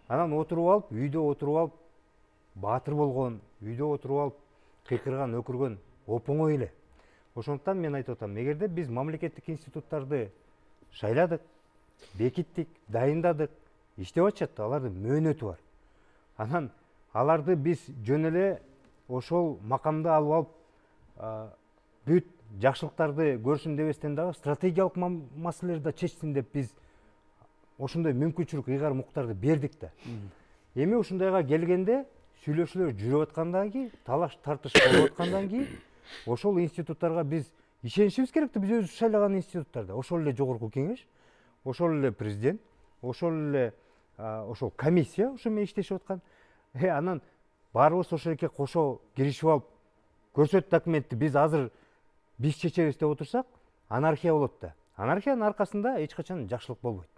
Анан отуруп алып, үйдө отуруп алып, баатыр болгон, үйдө отуруп алып, кыйкырган, өкүргөн оп-оңой эле. Ошондуктан мен айтып атам, эгерде биз мамлекеттик институттарды шайладык, бекиттик, дайындадык, иштеп атышат, алардын мөөнөтү бар. Анан аларды биз жөн эле ошол макамды алып алып, бүт жакшылыктарды көрсүн дебестен дагы стратегиялык маселелерди да чечсин деп биз ошондой мүмкүнчүлүк, ыйгар муктарды бердик да. Эми ушундайга келгенде сүйлөшүүлөр жүрүп аткандан кийин, талаш тартыш болуп аткандан кийин ошол институттарга биз ишенишибиз керек да, биз өзүбүз шайлаган институттарда. Ошол эле жогорку кеңеш, ошол эле президент, ошол эле ошол комиссия ошо менен иштешип аткан. Анан баарыбыз ошол эке кошо киришип алып, көрсөт документти биз азыр биз чечебиз деп отурсак, анархия болот да. Анархиянын аркасында эч качан жакшылык болбойт.